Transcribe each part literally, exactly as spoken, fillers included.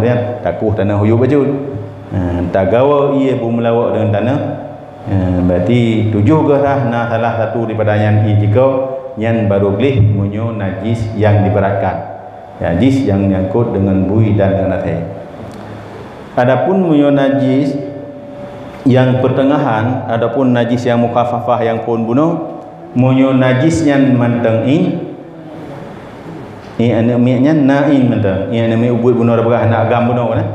Nyan, takueh taneuh huyub bacut. Ha, tagawa ié beumeulawok deungon taneuh. Ha, berarti tujoh geuh rhah na salah satu daripada nyan ié jikoh, nyan baru gleh meunyoe najis nyang diberatkan. Najis nyang nyangkot deungon bui dan deungon asèe. Adapun meunyoe najis nyang peuteungahan, adapun najis nyang mukhaffafah nyang phôn bunoe, meunyoe najis nyan mantong in, ié aneuk miet nyan na in mantong. Ié aneuk miet ubit bunoe peugah aneuk agam bunoe kan.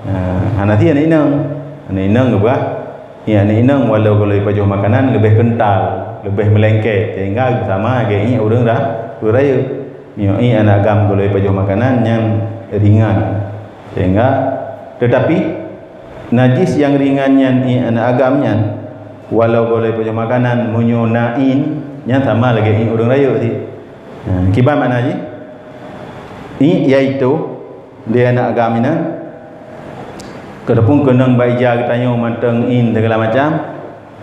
Ha, hana sie aneuk inong. Aneuk inong geupeugah, ié aneuk inong walau golom pajoh makanan leubeh keuntal, leubeh meulengket, sehingga sama lagèe ié ureueng ra-, ureueng rayeuk. Meunyoe ié aneuk agam golom pajoh makanan nyan ringan. Sehingga, teutapi, najis nyang ringan nyan ié aneuk agam nyan, walau golom pajoh makanan, meunyoe na in, nyan sama lagèe ié ureueng rayeuk cit. Ha, kiban makna jih? Ié, yaitu, di aneuk agam inan, ataupun keunong bak ija geutanyoe mantong in segala macam,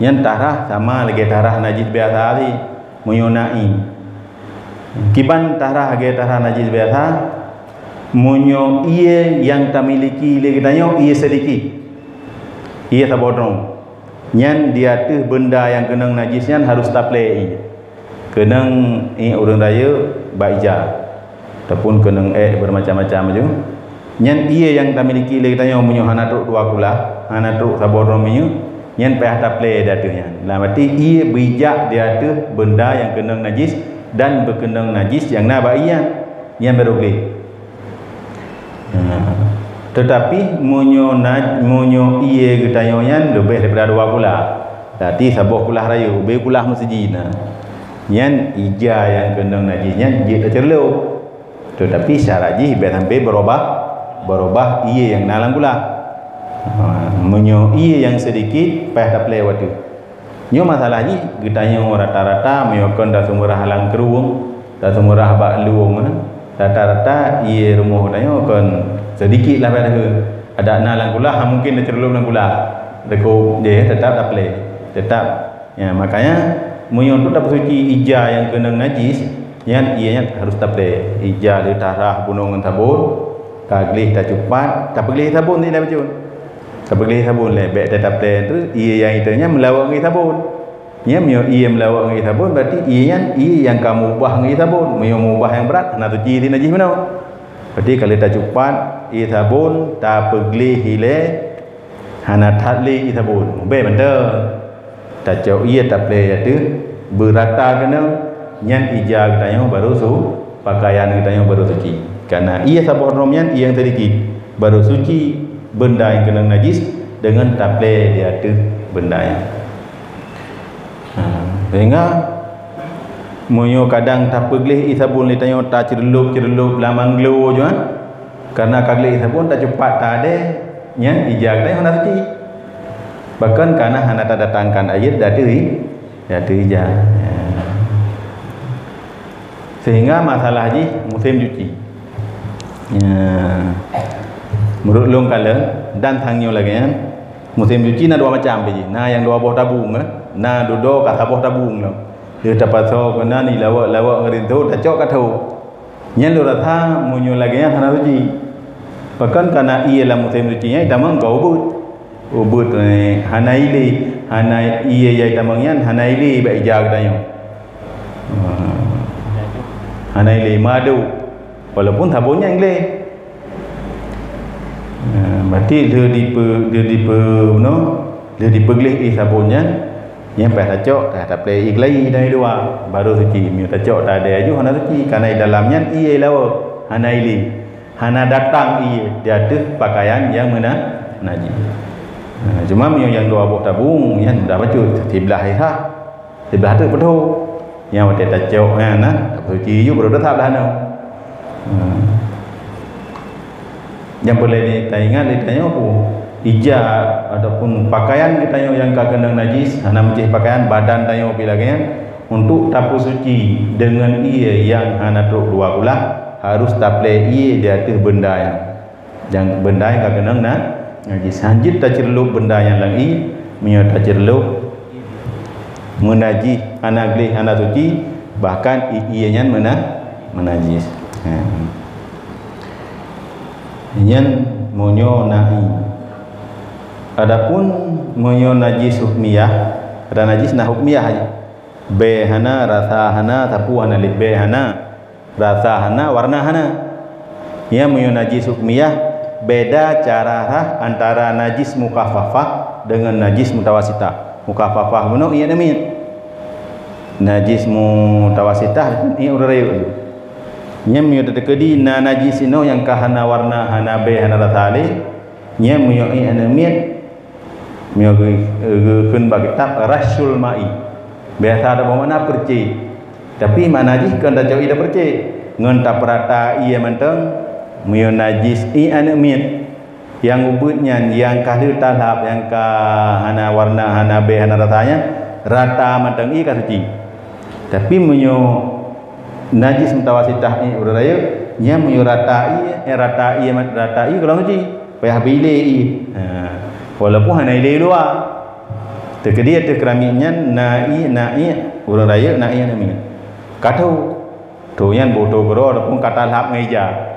nyan tarhah sama lagèe tarhah najis biasa cit, meunyoe na in. Kiban tarhah lagèe tarhah najis biasa, meunyoe ié nyang tamiliki lé geutanyoe ié seudikit, ié saboh droe, nyan di ateueh beunda nyang keunong najis nyan harôh taplè ié. Keunong ié ureueng rayeuk bak ija, ataupun keunong èk beureumacam-macam laju. Nyan ié nyang tamiliki lé geutanyoe meunyoe hana trok dua kulah, hana trok saboh droe minyeuk, nyan payah taplè di ateueh nyan. Lam arti ié beujak di ateueh beunda nyang keunong najis dan beukeunong najis nyang na bak ié nyan, nyan barô gleh. Ha. Teutapi meunyoe na-, meunyoe ié geutanyoe nyan leubeh daripada dua kulah, berarti saboh kulah rayeuk, ubé kulah meuseujid na, nyan ija nyang keunong najis nyan jeuet taceureulôp. Teutapi syarat jih bèk sampai beurubah, beurubah ié nyang na lam kulah. Ha, meunyoe ié nyang seudikit, payah taplè watèe. Nyoe masalah jih, geutanyoe rata-rata meunyoe kon taseumeurah lam krueng, taseumeurah bak lueng, rata-rata ié rumoh geutanyoe kon seudikit lah bèk takheun. Adak na lam kulah, ha, mungken taceureulôp lam kulah. Takot jih teutap taplè. Teutap. Ya, makanya, meunyoe untuk tapeusuci ija nyang keunong najis, nyan ié nyan harôh taplè. Ija lheueh tarhah bunoe ngon sabon, ka gleh tacupat, tapeugleh sabon cit lé bacut. Tapeugleh sabon lé, bèk tataplè terus, ié nyang item nyan meulawok ngon sabon. Nyan meunyoe ié meulawok ngon sabon, berarti ié nyan ié nyang ka meubah ngon sabon. Meunyoe meubah nyang brat, hana suci cit najis bunoe. Berarti ka lheueh tacupat ié sabon, tapeugleh ilèe, hana that lé ié sabon. Ubé mantong. Tacok ié taplè ateueh, beurata keunong, nyan ija geutanyoe barô su-, pakaian geutanyoe barô suci. Karena ié saboh droe nyan ié nyang seudikit, barô suci beunda nyang keunong najis deungon taplè di ateueh beunda nyan. Ha, sehingga meunyoe kadang tapeugleh ié sabon lé tanyoe taceureulôp-ceureulôp lam anglo jih, ha? Karena ka gleh ié sabon tacupat tadèe, nyan ija geutanyoe hana suci. Bahkan kana hana tadatangkan air di ateueh i-, di ateueh ija. Ya. Sehingga masalah jih musém cuci. Ya. Meunurot lôn kalon dan tanyoe lagèe nyan, musém cuci na dua macam pih jih. Na nyang dua boh tabung, eh. Na dudoe ka saboh tabung lom. Lheueh tapasoe keunan ilawok-lawok ngon rinso, tacok ka tho. Nyan lôn rasa meunyoe lagèe nyan hana suci. Pakon kana ié lam musém suci nyan itamong keu ubeut. Ubeut, eh, hana ilé, hana ié nyang itamong nyan hana ilé bak ija geutanyoe. Ah. Hana ilé meuaduk. Walaupun sabon nyan gleh. Ah, berarti lheueh dipe-, lheueh dipe-, bunoe, lheueh dipeugleh ié sabon nyan, nyan payah tacok, payah taplè ié keulayi dan ié luwa, barô suci. Meunyoe tacok tadèe aju hana suci, karena di dalam nyan ié lawok, hana ilé. Hana datang ié di ateueh pakaian nyang meuna-, najis. Nah, cuma meunyoe nyang dua boh tabung, nyan mudah bacut, siblah ié sah, siblah teuk peutho. Nyang watèe tacok nyan na, tapeusuci ju, barô teutab lah nyoe. Hmm. Nyang peureulèe taingat lé tanyoe peue? Ija ataupun pakaian geutanyoe nyang ka keunong najis, hana meucéh pakaian, badan tanyoe pih lagèe nyan, untuk tapeusuci deungon ié nyang hana trok dua kulah, harôh taplè ié di ateueh beunda nyan. Nyang beunda nyang ka keunong na-, najis. Hanjeuet taceureulôp beunda nyan lam ié, meunyoe taceureulôp meunajih, hana gleh, hana suci, bahkan i-, ié nyan meuna-, meunajis. Ha. Nyan meunyoe na ie. Adapun meunyoe najis hukmiyah, ada najis na hukmiyah, bèe hana, rasa hana, sapeue hana lé, bèe hana, rasa hana, warna hana. Nyan meunyoe najis hukmiyah, beda cara rhah antara najis mukhaffafah dengan najis mutawasitah. Mukhaffafah bunoe ie aneuk miet. Najis mutawasitah ie ureueng rayeuk. Nyan meunyoe teukeudi na najis inoe nyang ka hana warna, hana bèe, hana rasa lé, nyan meunyoe ie aneuk miet, meunyoe geu-, geukheun bak kitab Rasyul Ma'i. Biasa taboh makna peureukcék. Tapi makna jih kon tacok ie tapeureukcék, ngon tapeurata ie mantong. Meunyoe najis ie aneuk miet, nyang ubit nyan, nyang ka lheueh talhab, nyang ka hana warna, hana bèe, hana rasa nyan, rata mantong ie ka suci. Tapi meunyoe najis mutawasitah ie ureueng rayeuk, nyan meunyoe rata ie, eh, rata ie, rata ie gohlom suci, payah beuilé ie. Ha. Walaupun hana ilé luwa. Teukeudi ateueh keramik nyan na ie, na ie ureueng rayeuk, na ie aneuk miet. Ka tho. Tho nyan beutoe keudroe ataupun ka talhab ngon ija.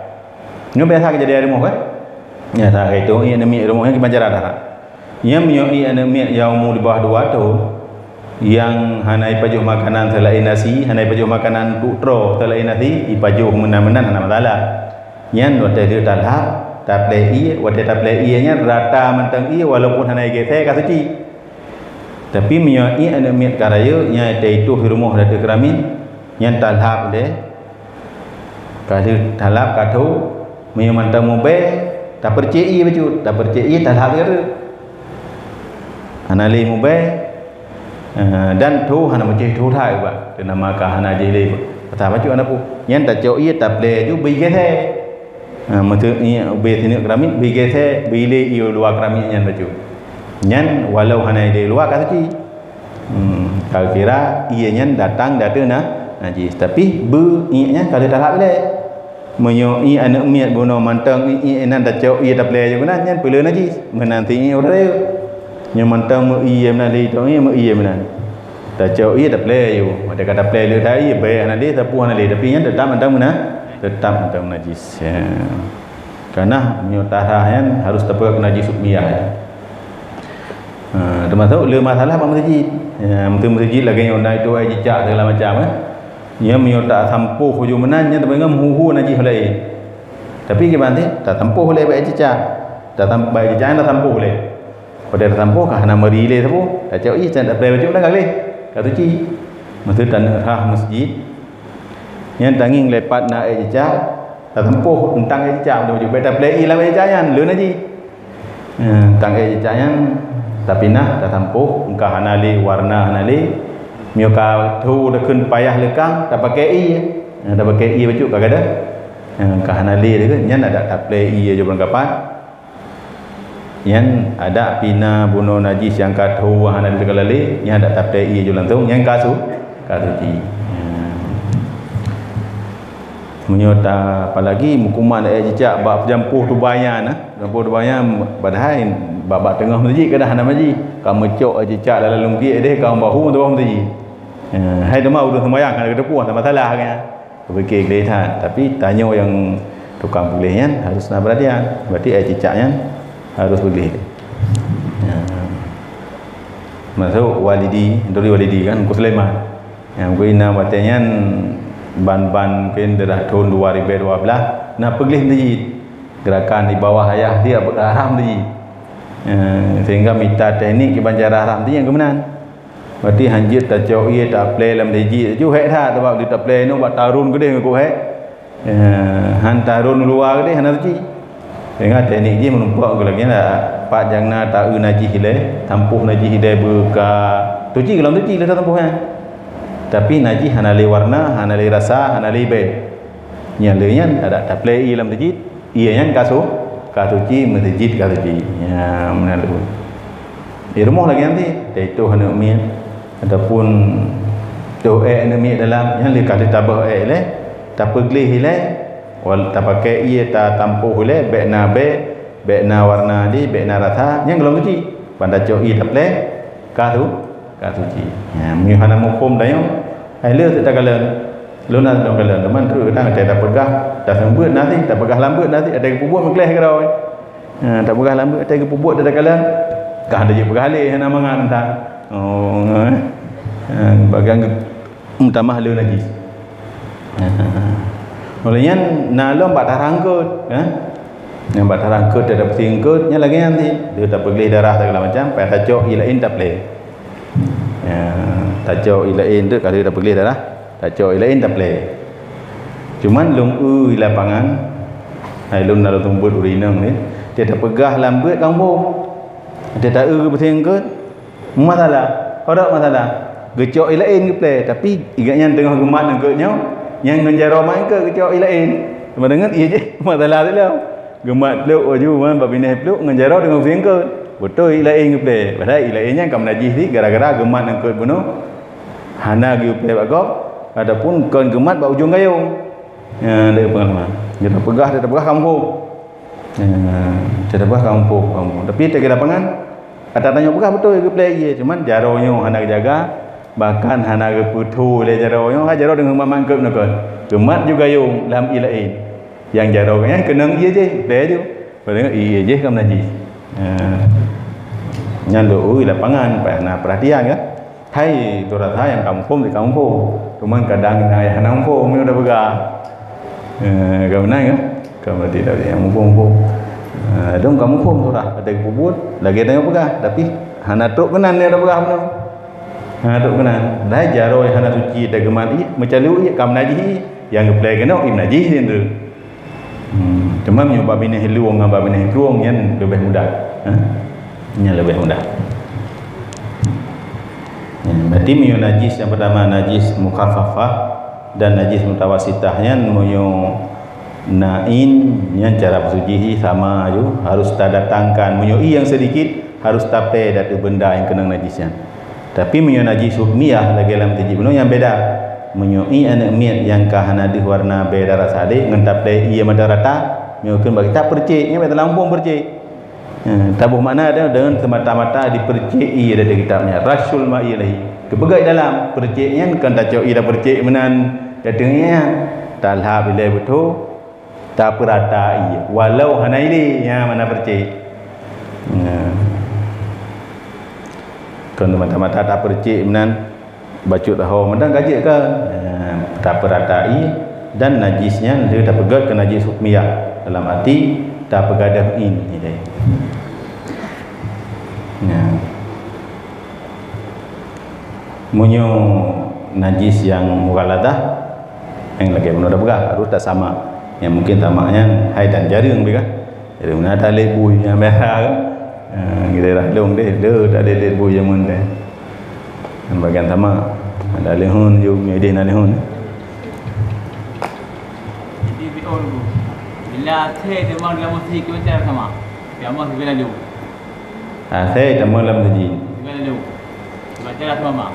Nyoe biasa keujadian rumoh, kan? Biasa keu itu, ie aneuk miet rumoh nyan kiban cara dah. Nyan meunyoe ie aneuk miet nyang umu di bawah dua thon, nyang hana ipajoh makanan seulaén nasi, hana ipajoh makanan untuk troe seulaén nasi, ipajoh meunan-meunan hana masalah. Nyan watèe lheueh talhab, taplè ie, watèe taplè ie nyan rata mantong ie walaupun hana igèsè ka suci. Tapi meunyoe ie aneuk miet ka rayeuk, nyan teuitoh di rumoh ateueh keramik, nyan talhab lé. Ka lheueh talhab ka tho, meunyoe mantong mubèe, tapeureukcék ie bacut, tapeureukcék ie talhab lé. Hana lé mubèe, eh, dan tho hana meucéh tho that ubat, teunama ka hana jih lé. Rasa bacut hana peue. Nyan tacok ie taplè ju beuigèsè. Ha, meuseu ie ubé sineuk keramik, beuigèsè, beuilé ie luwa keramik nyan bacut. Nyan walau hana ilé luwa ka suci. Hmm, ka kira ie nyan datang dari na-, najis. Tapi beu ie nyan ka lheueh talhab ilèe. Meunyoe ie aneuk miet bunoe mantong ie, ie nan tacok ie taplè ju keunan, nyan peue le najis. Meunan ti ie ureueng rayeuk. Nyoe mantong meu ie meunan lé, tong ie meu ie meunan. Tacok ie taplè ju. Watèe ka taplè le that ie, bèe hana lé, sapeue hana lé. Tapi nyan teutap mantong meunan, teutap mantong najis. Ya. Karena meunyoe tarhah nyan harus tapeugah keu najis hukmiyah. Ha, teumasok le masalah bak meuseujid. Ya, meuseujid lagèe nyoe na itu aé cicak segala macam, eh. Nyan meunyoe tasampôh ujoe meunan, nyan tapeugah meuhu-hu najis laén. Tapi kiban teuh, tasampôh lé bak aé cicak. Tasam-, bak aé cicak nyan tasampôh lé. Padahai tasampôh ka hana meuri lé sapeue. Tacok ie, can taplè bacut dah ka gleh. Ka suci. Meuseujid taneuk rhah meuseujid. Nyan tangieng lé pat na aé cicak. Tasampôh teuntang aé cicak, bèk taplè ie lam aé cicak nyan, le najis. Eh, teuntang aé cicak nyan tapinah, tasampôh, ka hana lé warna, hana lé. Meunyoe ka tho takheun payah leukang, tapakè ie. Eh, tapakè ie bacut ka gadôh. Eh, ka hana lé takheun, nyan adak taplè ie ju barangkapat. Nyan adak pih na bunoe najis nyang ka tho hana lé teukalon lé, nyan adak taplè ie ju langsông, nyan ka su-, ka suci. Nyan. Meunyoe ta, apalagi meukuman aé cicak bak peujampôh tubai nyan, nah. Peujampôh tubai nyan, padahai bak, bak teungoh meuseujid kadang hana meuseujid. Ka meucok aé cicak dalam lungkiek deh, ka bahu teungoh meuseujid. Nyan, hai teuma ureueng seumayang hana geuteupeue, hana masalah nyan. Peupiké gleh that, tapi tanyoe nyang tukang peugleh nyan harus na peuratian. Berarti aé cicak nyan harus peugleh. Ya. Masuk Walidi, Nuri Walidi kan, Teungku Sulaiman. Ya, mungkin na watèe nyan ban-ban mungkin daerah tahun dua ribu dua belas, na peugleh meuseujid. Gerakan di bawah ayah dia haram meuseujid. Ya, sehingga mita teknik kiban cara haram meuseujid nyang keumeunang. Berarti hanjeuet tacok ie taplè lam meuseujid, ju hék that, sabab di taplè nyoe bak tarôn keudeh ngon hék. Eh, han tarôn luwa keudeh hana suci. Ingat teknik jih meurumpok keu lagèe nyan, pat nyang na taeu najih ilèe, tampôh najih ilèe beuka suci, gohlom suci lé tampôh nyan. Tapi najih hana lé warna, hana lé rasa, hana lé bèe. Nyan lé nyan adak taplè ie lam meuseujid, ie nyan ka su-, ka suci, meuseujid ka suci. Nyan meunan lé. Di rumoh lagèe nyan cit, teutoh aneuk miet ataupun toh ék aneuk miet dalam, nyan lé ka lheueh taböh ék ilèe, tapeugleh ilèe, wal-, tapakè ie tatampôh ilèe, bèk na bèe, bèk na warna jih, bèk na rasa, nyan gohlom suci. Ban tacok ie taplè, ka su-, ka suci. Nyan, meunyoe hana muphom tanyoe, hai le takalon. Lôn na lôn kalon, teuma trok kadang watèe tapeugah, taseumeubeuet na sih, tapeugah lam beuet na sih, watèe geupeubuet meukleh keudroe. Ha, tapeugah lam beuet, watèe geupeubuet takalon, ka hana jeuet peugah lé, hana mangat entah. Oh, eh. Ha, bagian geu-, meutamah le najis. Ha. Oleh nyan, na lom bak tarah eungkôt, eh. Nyang bak tarah eungkôt, watèe tapeusie eungkôt, nyan lagèe nyan sih. Le tapeugleh darah segala macam, payah tacok ié laén taplè. Ya, tacok ié laén tu, ka lheueh tapeugleh darah, tacok ié laén taplè. Cuman lôn eu di lapangan, hai lôn na lôn seumeubeuet ureueng inong ni, watèe tapeugah lam beuet ka muphom. Watèe ta eu geupeusie eungkôt, masalah. Padahai masalah. Geucok ié laén geuplè, tapi gobnyan teungoh geumat eungkôt nyoe, nyan ngon jaroe mat eungkôt geucok ié laén. Sama dengan ié jih masalah tu lah. Geumat pluek laju, man, bak binéh pluek ngon jaroe teungoh geusie eungkôt. Beutôi ié laén geuplè. Padahai ié laén nyan ka meunajih cit gara-gara geumat eungkôt bunoe hana geuplè bak gob, ataupun kon geumat bak ujong gayông. Nyan lé peungalaman. Geupeugah, geupeugah ka muphom. Nyan, geupeugah ka muphom, ka muphom. Tapi watèe di lapangan, ata tanyoe peugah beutôi geuplè ié, cuman jaroe nyoe hana geujaga, bahkan hana geupeutho lé jaroe nyoe, ha jaroe teungoh geumat eungkôt bunoe kon. Geumat ju gayông lam ié laén. Nyang jaroe nyan keunong ié jih, plè ju. Padahai ié jih ka meunajih. Ha. Nyan lôn eu di lapangan, payah na peurhatian kan. Hai, tu rasa nyang ka muphom, ka muphom. Cuman kadang na nyang hana muphom, nyoe tapeugah. Eh, ka meunan kan? Ka berarti dak nyang muphom-muphom. Eh, dong ka muphom surah, watèe geupeubuet, lagèe tanyoe peugah, tapi hana trok keunan nyoe tapeugah bunoe. Hana trok keunan. Dah jaroe hana suci, watèe geumat ié, meucalu ié, ka meunajih ié. Nyang geuplè keunoe, ié meunajih lé tu. Hmm, cuma meunyoe bak binéh lueng ngon bak binéh krueng, nyan leubeh mudah. Ha? Nyan leubeh mudah. Nyan, berarti meunyoe najis nyang pertama najis mukhaffafah dan najis mutawasitah, nyan meunyoe na in, nyan cara peusuci sama ju, harus tadatangkan. Meunyoe ié nyang sedikit, harus taplè datu benda nyang keunong najis nyan. Tapi meunyoe najis hukmiyah lagèe lam teuji bunoe, nyan beda. Meunyoe ié aneuk miet nyang ka hana deuh warna bèe darah sadéh ngon taplè ié mata rata, meunyoe kheun bak kitab peureusek, nyan bèk talampông peureusek. Eh, taboh makna dia deungon semata-mata dipeureusek ié dari kitab nyan. Rasyul ma'i ilaihi. Geupeugah dalam peureusek nyan kon tacok ié tapeureusék meunan, datang nyan. Talhap ilèe beutôi, tapeurata ié, walau hana ilèe, nyan makna peureusek. Nyan. Kon mata-mata tapeureusék meunan, bacut ho meunan ka jeuet kan. Nyan, tapeurata ié dan najis nyan lheueh tapeugöt keu najis hukmiyah, dalam arti tapeugadöh in ilèe. Nyan. Meunyoe najis nyang mughalladah, nyang lagèe bunoe tapeugah, harôh tasamak. Nyang mungken samak nyan hai dan jareueng pih kan. Jadi, meunan talét bui nyang biasa kan. Ha, di daerah lôn deh, le talét-lét bui jameun deh. Nyang bagian samak, ada leuhon ju, meudeh na leuhon. Jadi, bila asèe teuma lam masjid, kita cara sama. Dia mah kita lalu. Asèe teuma lam masjid. Gimana tu? Baca lah tu, Mama.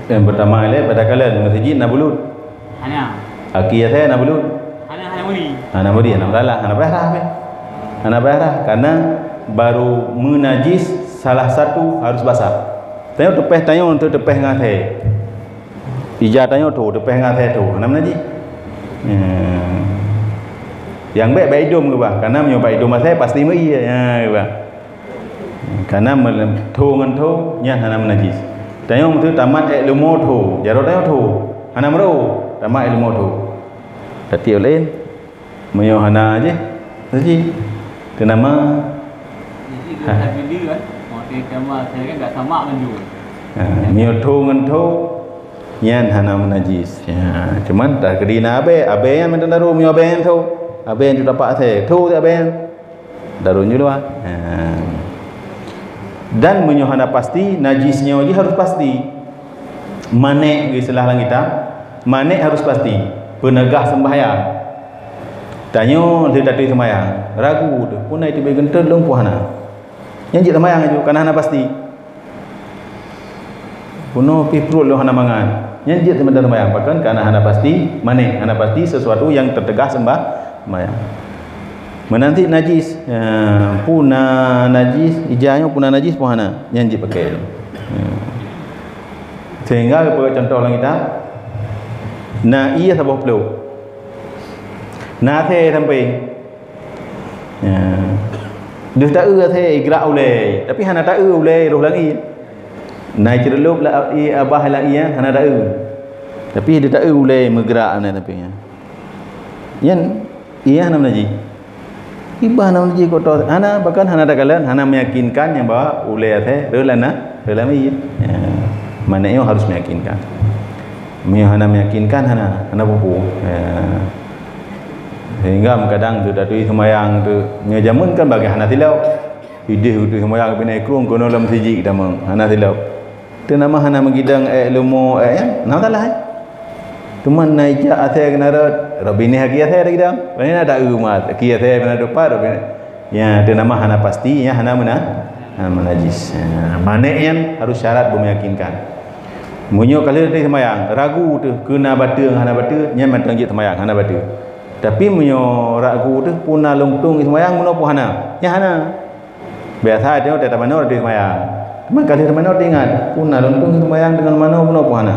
Yang pertama ilèe pada kalian, masjid na bulut. Hana. Aki asèe na bulut. Hana, hana muni. Hana muni, hana masalah, hana payah rhah pih. Hana payah rhah, karena baru meunajis salah satu harus basah. Tanyoe teupèh, tanyoe untuk teupèh ngon asèe. Ija tanyoe tho, teupèh ngon asèe tho, hana meunajis. Hmm. Nyang bèk bak idôm keubah, karena meunyoe bak idôm asèe pasti meuié. Ha, keubah. Karena meulem-, tho ngon tho nyan hana meunajis. Tanyoe meuteu tamat èk leumo tho, jaroe tanyoe tho, hana meurô, tamat èk leumo tho. Tapi ulèe, meunyoe hana jih, saji. Teunama. Jadi, ha. Kita bila, kan? Maksudnya, sama, saya kan tak sama mandum. Ha, meunyoe tho ngon tho, nyan hana meunajis. Ya, cuman takdi na abèe, abèe nyan mantong daru, meunyoe abèe nyan tho, abèe nyan tho tapak asèe, tho abèe nyan. Daru nyoe luwa. Ha. Dan meunyoe hana pasti, najis nyoe jih harus pasti. Mané' geuistilah lam kitab, mané' harus pasti. Peunegah sembahyang. Tanyoe lheueh taturi sembahyang, ragu teuh, puna itu bèe geunteut lôn pun hana. Nyan jeuet sembahyang laju, karena hana pasti. Bunoe pih pruet lôn hana mangat. Nyan jeuet seumeuntara sembahyang. Pakon? Karena hana pasti, mané', hana pasti sesuatu yang teutegah sembah-, sembahyang. Meunan cit najis, eh, puna najis, ija nyoe puna najis pun hana. Nyan jeuet pakèk lom. Eh. Sehingga geupeugah contoh lam kitab, Na ié saboh plôk. Na asèe sampéng. Ya. Deuh taeu asèe, igrak ulèe. Tapi hana taeu ulèe roh lam ié. Na iceureulob lam ié, abah lam ié, hana taeu. Tapi deuh taeu ulèe meugrak na sampéng nyan. Nyan, ié hana meunajis. Ié bah hana meunajis kotor, hana, bahkan hana takalon, hana meyakinkan nyang bahwa ulèe asèe rôh lam na, rôh lam ié. Ya. Makna nyoe harus meyakinkan. Meunyoe hana meyakinkan, hana, hana peue-peue. Ya. Sehingga kadang tu tatui seumayang tu, nyoe jameun kan bagi hana silop. Idéh geutui seumayang bina ikrong keunoe lam sijik tamong, hana silop. Teunama hana meugidang èk leumo èk nyan, na masalah, eh? Teuma na ijak asèe keunan rot, rot binéh aki asèe tagidang. Binéh na taeu mat, aki asèe binéh depan, rot binéh. Ya, teunama hana pasti, ya, hana meuna-, hana meunajis. Ya, manéh nyan harus syarat beumeyakinkan. Meunyoe ka lheueh teuh seumayang, ragu teuh, keu na bateue hana bateue, nyan mantong jeuet seumayang, hana bateue. Tapi meunyoe ragu teuh, peue na lôn tueng seumayang, meunoe peue hana? Nyan hana. Biasa tanyoe teuh tamanoe teuh seumayang. Teuma ka lheueh tamanoe teuingat, peue na lôn tueng seumayang deungon manoe, meunoe peue hana?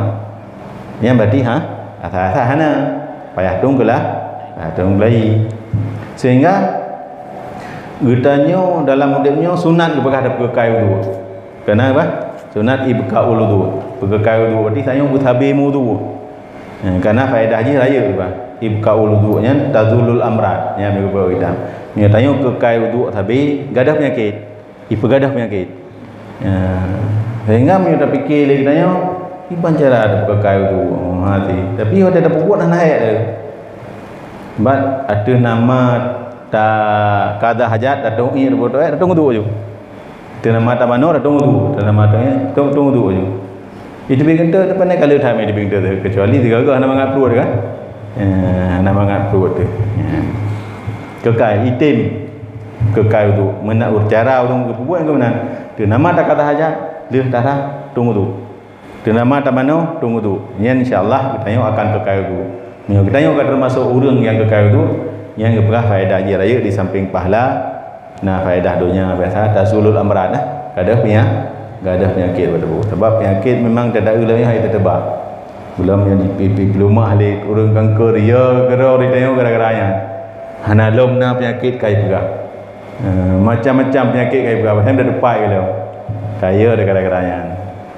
Nyan berarti, ha, asa-asa hana. Payah tueng keulah, payah tueng keulayi. Sehingga geutanyoe dalam udép nyoe sunat geupeugah tapeukai uduk. Keunan bah, sunat ibqaul uduk. Peukai uduk berarti tanyoe beusabé meuuduk. Eh, karena faedah jih rayeuk bah. Ibqaul uduk nyan tazulul amrad. Nyan geupeugah kitab. Nyoe tanyoe keukai uduk sabé gadôh peunyakét. Ipeugadôh peunyakét. Ya. Sehingga meunyoe tapike lé geutanyoe, kiban cara tapeukai uduk. Oh, hati. Tapi watèe tapeubuet hana hék teuh. Bat ateueh nama ta kada hajat, tatong ié, tatong uduk ju. Teunama tamanoe, tatong uduk, teunama tatong, tatong uduk ju. Iteubiet keuneuk, teupeu ka lheueh that iteubiet keuneuk, kecuali sigoe-goe hana mangat pruet kan? Eh, hana mangat pruet teuh. Ya. Keukai, item. Keukai uduk. Meunan cara ureueng geupeubuet keu meunan. Teunama takata hajat, lheueh tara, tong uduk. Teunama tamanoe, tong uduk. Nyan insya Allah geutanyoe akan keukai uduk. Meunyoe geutanyoe ka teumasok ureueng nyang keukai uduk, nyan geupeugah faedah jih rayeuk di sampéng pahala, na faedah donya biasa, tazulul amrad, nah. Gadôh peunya-, gadôh peunyakét bak tuboh. Sabab peunyakét memang teudaeu lom nyoe hai teuteuba. Belom nyoe di pi-, pi-, peulumah lé ureueng kanker, ya keudroe di tanyoe gara-gara nyan. Hana lom na peunyakét kai peugah. Eh, macam-macam peunyakét kai peugah, padahai dah tupai ka lom. Kaya dah gara-gara nyan.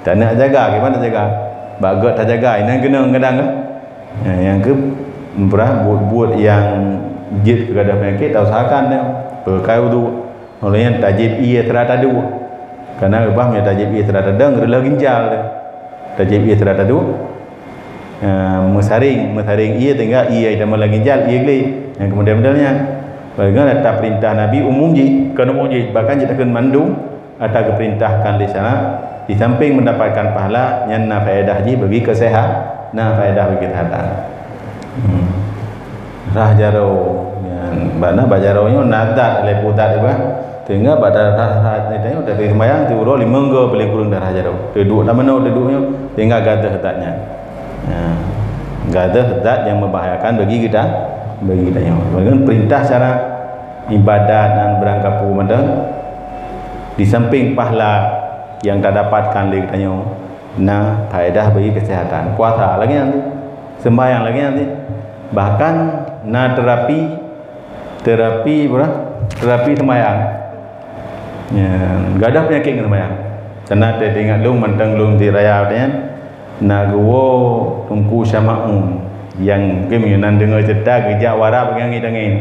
Tak nak jaga, kiban nak jaga? Bak gét tajaga, inan keunong kadang kan. Nah, nyang keu, peurah buet-buet nyang jeuet keu gadôh peunyakét, tausahakan nyoe. Peukai uduk. Lheueh nyan tajieb ié sira taduek. Karena reubah meunyoe tajieb ié sira taduek, reuloh ginjal teuh. Tajieb ié sira taduek, eh, meusaréng, meusaréng ié sehingga ié nyang lam ginjal, ié glé. Nyang keumudian-mudian nyan. Bagaimana ata peurintah Nabi umum jih, kon umum jih, bahkan jih takheun mandum, ata geupeurintahkan lé syarak, di sampéng mendapatkan pahala, nyan na faedah jih bagi kesehatan, na faedah bagi kesehatan. Hmm. Rhah jaroe, nyan, bak na bak jaroe nyoe na zat, lhèe ploh zat, bah. Sehingga bak darah, rhah nyoe, tapi seumayang siuroe limong goe paléng kureueng darah jaroe. Teuduek lam manoe, teuduek nyoe, sehingga gadôh zat nyan. Ya. Gadôh zat nyang membahayakan bagi kita, bagi kita nyoe. Bagaimana perintah syarak ibadat dan barang kapeue mantong, di samping pahala yang tadapatkan lé geutanyoe, na faedah bagi kesehatan. Puasa lagèe nyan, sembahyang lagèe nyan. Bahkan na terapi, terapi apa? Terapi sembahyang. Ya, gadôh penyakit ngon sembahyang. Karena teuingat lôn mantong lôn di raya nyan, na geuwoe Teungku Syamaun nyang mungkin meunyoe na deungoe cerita geujak u Arab ngon angén.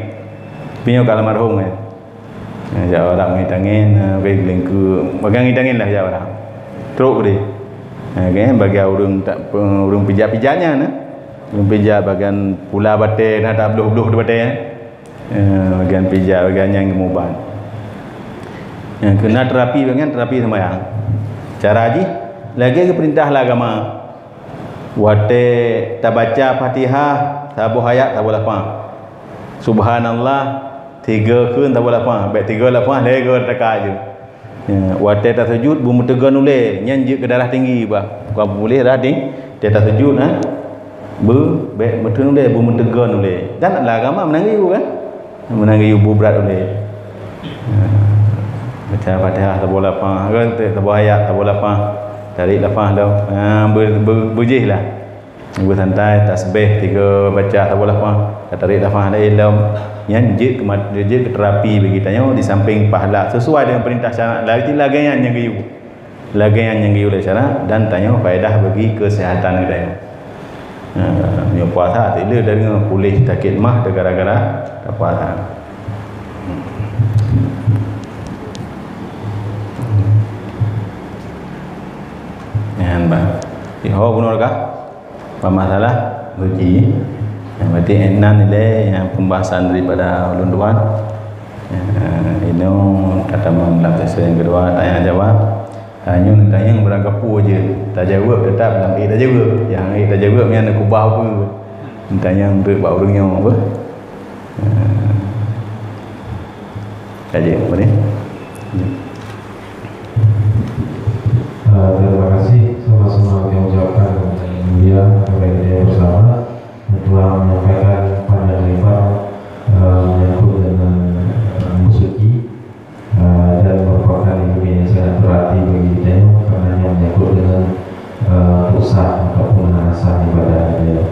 Tapi nyoe ka almarhum, eh. Nah, jak u Arab ngon angén, eh, bagi lingku, bagi ngon angén lah jak u Arab. Trok deh. Nah, kan bagi ureueng tak, ureueng pijat-pijat nyan, eh. Ureueng pijat bagian pula batèe, nah, tak bloh-bloh di batèe, eh. Eh, bagian pijat, bagian nyang geumubat. Nyang keu na terapi, bagian terapi sembahyang. Cara jih, lagèe geupeurintah lé agama. Watèe tabaca Fatihah, saboh ayat, saboh lafaz. Subhanallah, tiga kheun, saboh lafaz. Bèk tiga lafaz, lhèe goe teuka ju. Ya, watèe tasujud, beumeuteugon ulèe, nyan jeuet keu darah tinggi bah. Bukan puléh darah tinggi. Watèe tasujud, ha? Beu, bèk meuteun ulèe, beumeuteugon ulèe. Dan lam agama meunan geuyue kan? Meunan geuyue bu brat ulèe. Ha. Baca Fatihah saboh lafaz, kan, saboh ayat, saboh lafaz. Tarék lafaz lom. Ha, beu-, beu-, beujih lah. Beusantai, tasbih tiga baca, saboh lafaz, tatarék lafaz laén lom. Nyan jeuet keu mat-, jeuet keu terapi bagi tanyoe di samping pahala sesuai dengan perintah syarak. Lagèe, lagèe nyan nyang geuyue. Lagèe nyan nyang geuyue lé syarak dan tanyoe faedah bagi kesehatan geutanyoe. Ha, nyoe puasa, tak le dari puléh sakét mah gara-gara tapuasa. Nyan, bah. Di ho bunoe ka? Pemasalah suci. Yang berarti enam nilai yang pembahasan daripada ulun dua. Ya, ini tatamong dalam sesi yang kedua, tanya jawab. Tanya, tanya berangkapu je. Tajawab tetap dalam eh tajawab. Yang eh tajawab yang nak kubah apa? Tanya untuk bak urang yang apa? Kaji apa ni? Ah, terima kasih sama-sama kami ucapkan kepada Yang Mulia kepada kita bersama yang telah menyampaikan panjang lebar ah, menyangkut dengan ah, musiki ah, dan merupakan ilmu yang sangat berarti bagi kita karena yang menyangkut dengan ah, pusat ataupun landasan ibadah kita.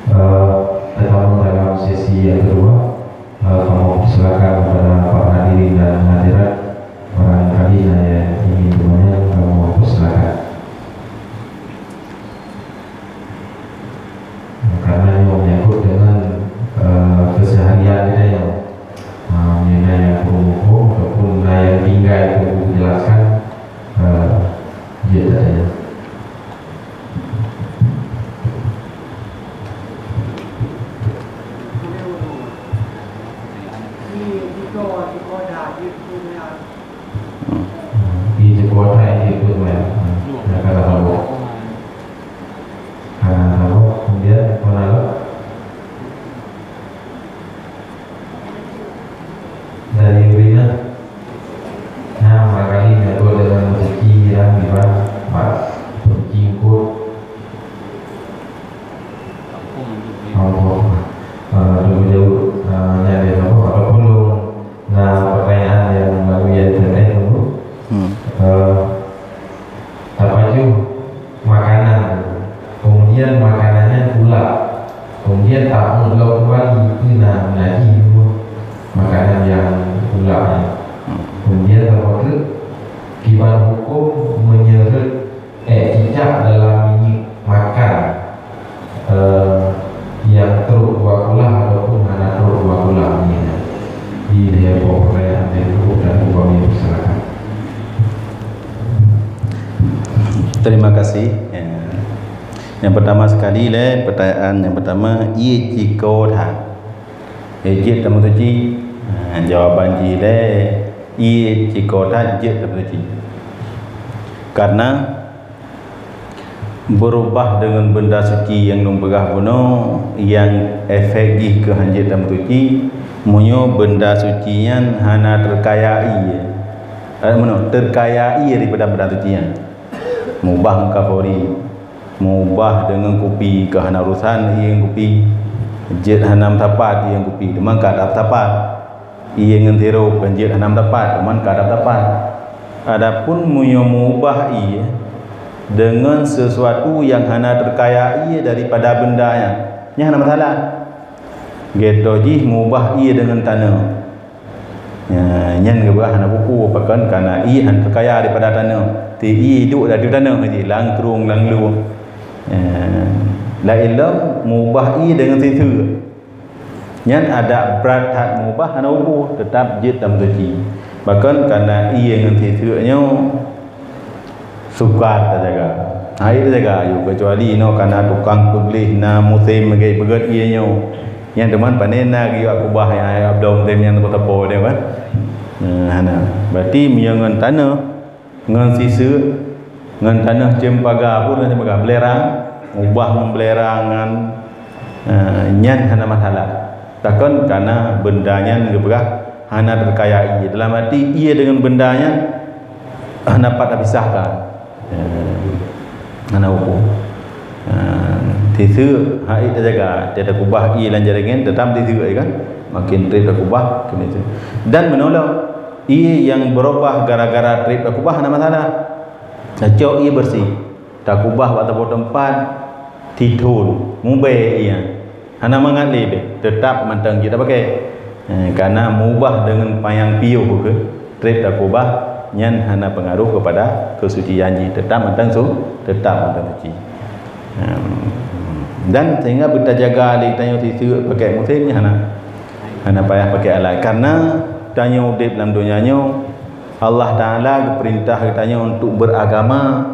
Ah, Tetamu dalam sesi yang kedua, ah, kamu persilakan kepada para hadirin dan hadirat, barangkali ada yang ingin bertanya, kamu persilakan. Karena ini menyangkut dengan eh, keseharian kita ya. Ah, mengenai yang perumuko ataupun yang tinggal itu dijelaskan eh, dia tak ada. Di Jakarta itu pun ya. Nah, kata Allah. Karena Allah, kemudian mana Allah? Dari Urina. Nah, barangkali menyangkut dengan rezeki yang dibuat, Pak. Rezeki engkau. Apa? Ah, tunggu jawab. Ah, ni ada apa? Ataupun lu, nah, pertanyaan yang melalui internet dulu. Hmm. Ah, Tapajoh makanan, kemudian makanan nyan ulap, kemudian tameulok kembali keu na najih makanan nyang ulap nyan. Kemudian tapajoh kiban huköm meunyeureuet eh cicak dalam minyeuk makan eh, nyang trok dua kulah ataupun hana trok dua kulah nyan. Di level perayaan itu dan upami masyarakat. Terima kasih. Ya. Yang pertama sekali le, pertanyaan yang pertama, ie ciko that. Eh, jeuet tameusuci. Ha, jawaban jih le, ie ciko that jeuet tameusuci. Karena Beurubah deungon beunda suci nyang lôn peugah bunoe, nyang efek jih keu hanjeuet tameusuci, meunyoe beunda suci nyan hana teukaya ie. Eh, meunoe, teukaya ie daripada beunda suci nyan. Meubah ngon kafori, meubah deungon kupi keu hana urosan ie ngon kupi, jeuet hana meusapat ie ngon kupi, teuma ka that sapat. Ie ngon sirop kan jeuet hana meusapat, teuma ka that sapat. Adapun meunyoe meubah ie deungon sisuatu nyang hana teukaya ie daripada beunda nyan, nyan hana masalah. Geutoh jih meubah ie deungon tanoh. Nya, nyan geupeugah hana buku, pakon kana ie hana teukaya daripada tanoh. Ti ie duek di ateueh tanoh jih, lam krueng, lam lueng. Nya, laén lom meubah ie deungon siseu. Nyan adak brat that meubah hana ubu, teutap jeuet tameusuci. Bahkan kana ie ngon siseu nyoe sukar tajaga. Hai tajaga ayue, keucuali inoe kana tukang peugleh na musém meuget-peuget ie nyoe. Nyan teuma pané na geuyue kubah nyang ayue bloe musém nyan teupeu-teupeu dia kan. Nah, hana. Berarti meunyoe ngon tanoh Ngon siseu, ngon tanoh ceumpaga, peue tanoh ceumpaga, beulerang, ubah ngon beulerang nyan, eh, nyan hana masalah. Takon kana beunda nyan geupeugah hana teukaya ie. Dalam arti ie deungon beunda nyan hana pat tapisahkan. Eh, hana huköm. Eh, siseu hai tajaga, tajaga kubah ie lam jaroe nyan, teutap siseu kan. Makin trép takubah, keuneuk siseu. Dan meunolong Ie nyang beurubah gara-gara trép takubah hana masalah. Tacok ie beureuséh. Takubah bak saboh teumpat, sithon, mubèe ié. Hana mangat lé bèk, teutap mantong jeuet tapakè. Eh, karena meubah deungon panyang piôh keuh, trép takubah, nyan hana peungaruh keupada keusucian jih, teutap mantong su-, teutap mantong suci. Em, dan sehingga beutajaga lé tanyoe siseuek pakè musém nyan hana, hana payah pakè alat. Karena tanyoe udép lam donya nyoe, Allah Taala geupeurintah geutanyoe untuk beragama,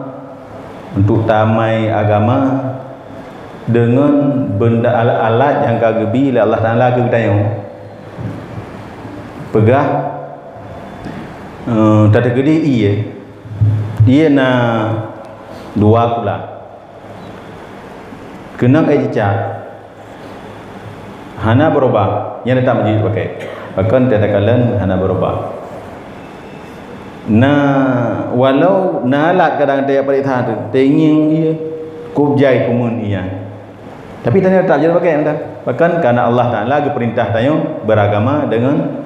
untuk tamai agama deungon benda alat-alat nyang ka geubi lé Allah Taala keu geutanyoe. Peugah, eh, tateukeudi ié, ié na dua kula. Keunong ék cicak, hana beurubah, nyan teutap jeuet pakè. Pakon takalon hana beurubah. Na, walau na alat kadang tapareksa teuh, tangieng ié, kub jai kumeun ié. Tapi tanyoe teutap jeuet pakè mantong. Pakon? Karena Allah Taala geupeurintah tanyoe beragama deungon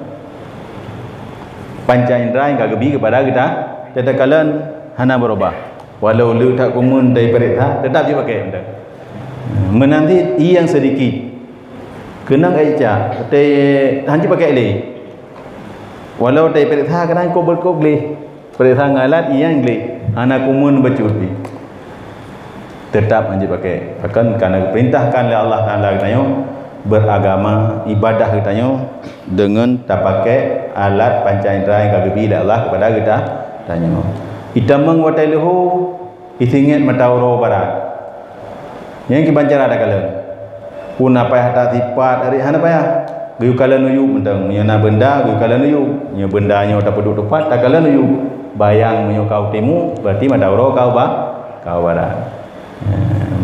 panca indra nyang ka geubi keupada geuta. Takalon hana beurubah. Walau le that kumeun tapareksa, teutap jeuet pakè mantong. Meunan cit ié nyang seudikit. Keunong ék cicak, teu-, han jeuet pakè lé. Walau tapareksa kadang kub, kub gleh. Pareksa ngon alat ié nyang gleh, hana kumeun bacut pih. Teutap han jeuet pakè. Pakon? Karena geupeurintahkan lé Allah Taala geutanyoe beragama, ibadah geutanyoe deungon tapakè alat panca indra nyang ka geubi lé Allah keupada geuta-, tanyoe. Itamong watèe leuhô, isingét mata uroe barat. Nyan kiban cara takalon. Pun na payah that sipat, ari hana payah. Geuyue kalon u yup mantong. Meunyoe na beunda, geuyue kalon u yup. Meunyoe beunda nyoe tapeuduek teupat, takalon u yup. Bayang meunyoe ka u timu, berarti mata uroe ka u ba-, ka u barat. Nyan.